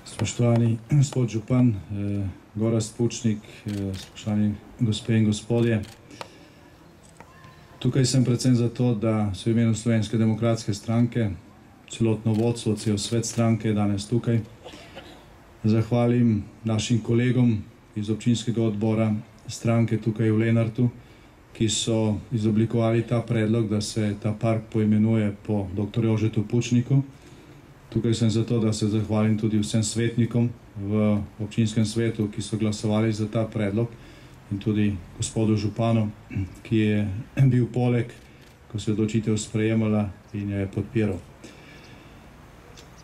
Spoštovani gospod župan, Gorazd Pučnik, spoštovani gospe in gospodje. Tukaj sem predvsem zato, da se v imenu Slovenske demokratske stranke, celotno vodstvo, cel svet stranke je danes tukaj, zahvalim našim kolegom iz občinskega odbora stranke tukaj v Lenartu, ki so izoblikovali ta predlog, da se ta park poimenuje po dr. Jožetu Pučniku. Tukaj sem zato, da se zahvalim tudi vsem svetnikom v občinskem svetu, ki so glasovali za ta predlog, in tudi gospodu županu, ki je bil poleg, ko se je odločitev sprejemala in jo je podpiral.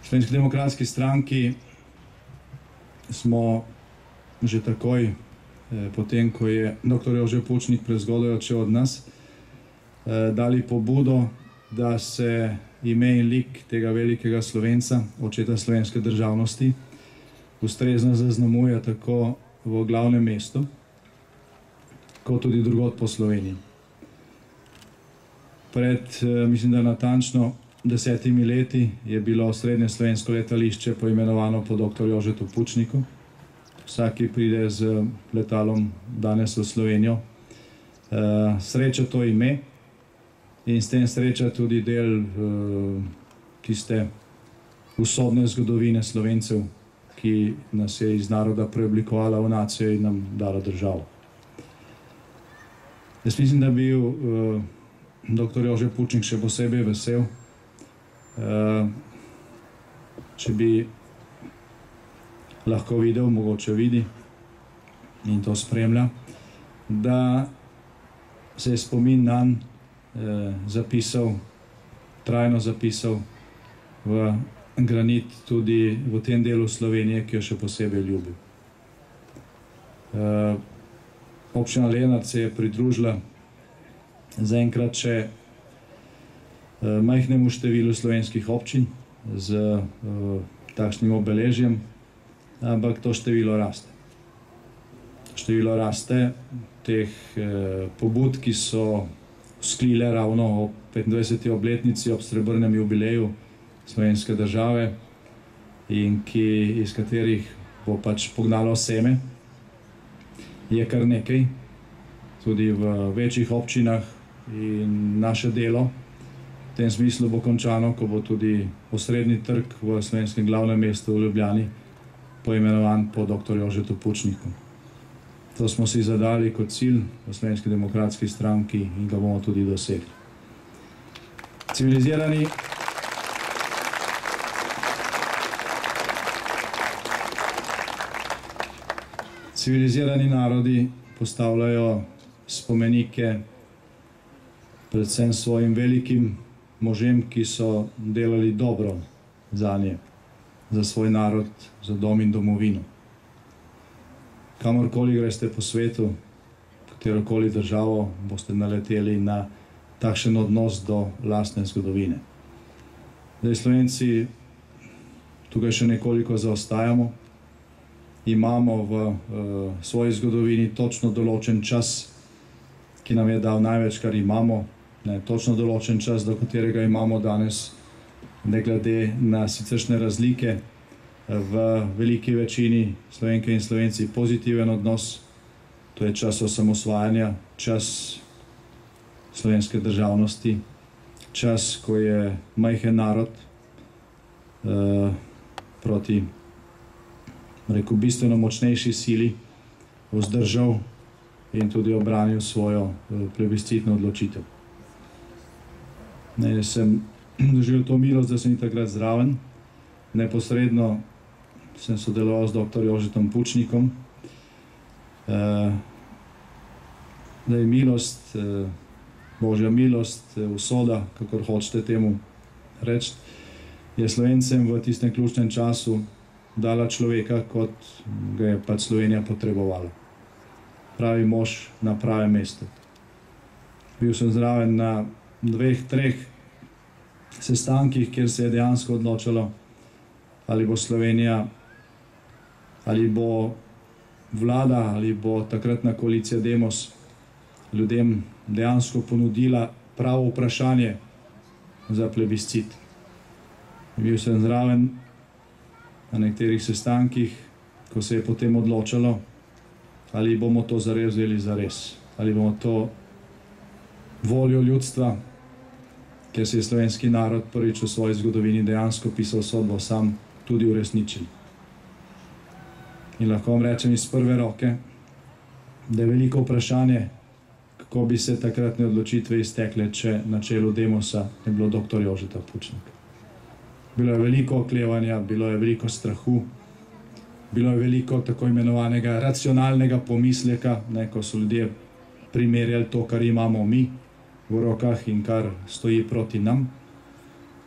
V Slovenski demokratski stranki smo že takoj, potem ko je dr. Jože Pučnik prezgodaj odšel od nas, dali pobudo, da se ime in lik tega velikega Slovenca, očeta slovenske državnosti, ustrezno zaznamuje tako v glavnem mestu, kot tudi drugod po Sloveniji. Pred, mislim, da natančno 10 leti je bilo srednje slovensko letališče poimenovano po dr. Jožetu Pučniku. Vsak, ki pride z letalom danes v Slovenijo, sreča to ime in s tem sreča tudi del tiste usodne zgodovine Slovencev, ki nas je iz naroda preoblikovala v nacijo in nam dala državo. Jaz mislim, da bi bil dr. Jože Pučnik še posebej vesel, če bi lahko videl, mogoče vidi in to spremlja, da se je spomin nanj zapisal, trajno zapisal v granit tudi v tem delu Slovenije, ki jo še posebej ljubi. Občina Lenart se je pridružila zaenkrat še majhnemu številu slovenskih občin z takšnim obeležjem, ampak to število raste. Število raste teh pobud, ki so vzklile ravno ob 25. obletnici, ob srebrnem jubileju slovenske države in iz katerih bo pač pognalo seme, je kar nekaj, tudi v večjih občinah, in naše delo v tem smislu bo končano, ko bo tudi osrednji trg v slovenskem glavnem mestu v Ljubljani poimenovan po dr. Jožetu Pučniku. To smo si zadali kot cilj v Slovenski demokratski stranki in ga bomo tudi dosegli. Civilizirani narodi postavljajo spomenike predvsem svojim velikim možem, ki so delali dobro zanje, za svoj narod, za dom in domovino. Kamorkoli greste po svetu, katerokoli državo, boste naleteli na takšen odnos do lastne zgodovine. Zdaj, Slovenci tukaj še nekoliko zaostajamo, imamo v svoji zgodovini točno določen čas, ki nam je dal največ, kar imamo, točno določen čas, do katerega imamo danes, ne glede na siceršnje razlike, v veliki večini Slovenke in Slovenci pozitiven odnos. To je čas osamosvajanja, čas slovenske državnosti, čas, ko je majhen narod proti, rekel, bistveno močnejši sili vzdržal in tudi obranil svojo plebiscitno odločitev. Jaz sem doživel to milost, da sem takrat zraven. Neposredno sem sodeloval z dr. Jožetom Pučnikom. Milost, Božja milost, usoda, kakor hočete temu reči, je Slovencem v tistem ključnem času dala človeka, kot ga je pač Slovenija potrebovala. Pravi mož na pravem mestu. Bil sem zraven na 2, 3 sestankih, kjer se je dejansko odločalo, ali bo Slovenija, ali bo vlada, ali bo takratna koalicija Demos ljudem dejansko ponudila pravo vprašanje za plebiscit. Bil sem zraven na nekaterih sestankih, ko se je potem odločalo, ali bomo to zares vzeli zares, ali bomo to voljo ljudstva, ker se je slovenski narod prvič v svoji zgodovini dejansko pisal sodbo sam, tudi uresničili. In lahko vam rečem iz prve roke, da je veliko vprašanje, kako bi se takratne odločitve iztekle, če na čelu Demosa ne bilo dr. Jožeta Pučnika. Bilo je veliko oklevanja, bilo je veliko strahu, bilo je veliko tako imenovanega racionalnega pomisleka, ko so ljudje primerjali to, kar imamo mi v rokah in kar stoji proti nam.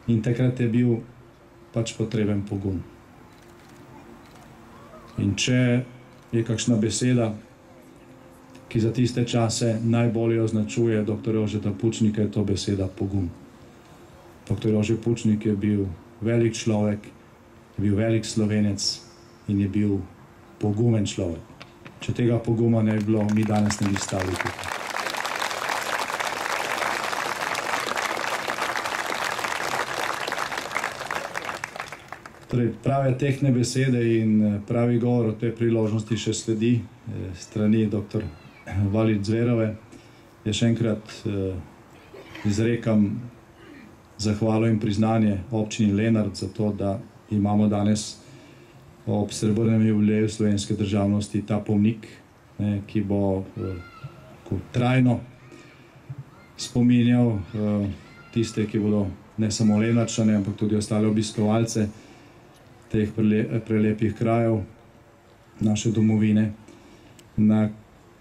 In takrat je bil pač potreben pogum. In če je kakšna beseda, ki za tiste čase najbolje označuje dr. Jožeta Pučnika, je to beseda pogum. Dr. Jože Pučnik je bil velik človek, je bil velik Slovenec in je bil pogumen človek. Če tega poguma ne bi bilo, mi danes ne bi stali tukaj. Torej, prave tehtne besede in pravi govor o tej priložnosti še sledi strani dr. Valič Zverove. Jaz še enkrat izrekam zahvalo in priznanje občini Lenart za to, da imamo danes ob srebrnem jubileju slovenske državnosti ta pomnik, ki bo trajno spominjal tiste, ki bodo ne samo Lenarčane, ampak tudi ostale obiskovalce teh prelepih krajev naše domovine, na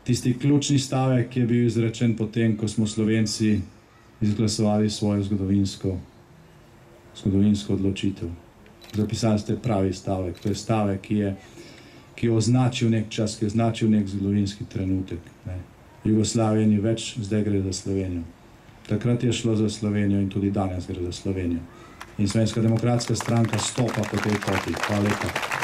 tisti ključni stavek, ki je bil izrečen potem, ko smo Slovenci izglasovali svojo zgodovinsko odločitev. Zapisali ste pravi stavek. To je stavek, ki je označil nek čas, ki je označil nek zgodovinski trenutek. Jugoslavije ni več, zdaj gre za Slovenijo. Takrat je šlo za Slovenijo in tudi danes gre za Slovenijo. In Slovenska demokratska stranka stopa po tej poti. Hvala lepa.